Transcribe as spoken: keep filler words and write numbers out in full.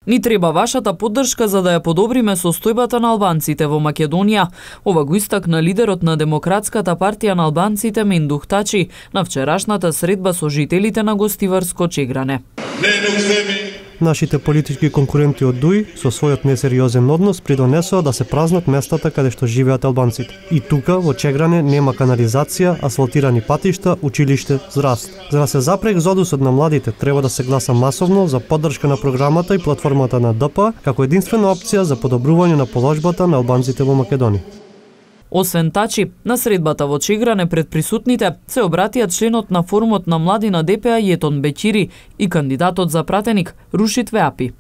Ни треба вашата поддршка за да ја подобриме состојбата на албанците во Македонија. Ова го истакна лидерот на Демократската партија на албанците Мендух Тачи на вчерашната средба со жителите на Гостиварско Чегране. Нашите политички конкуренти од ДУИ со својот несериозен однос придонесоа да се празнат местата каде што живеат албанците. И тука во Чегране нема канализација, асфалтирани патишта, училиште, здравство. За да се запре екзодусот на младите, треба да се гласа масовно за поддршка на програмата и платформата на Д П како единствена опција за подобрување на положбата на албанците во Македонија. Освен Тачи, на средбата во Чегране пред присутните се обратија членот на форумот на млади на Д П А Јетон Беќири и кандидатот за пратеник Рушит Веапи.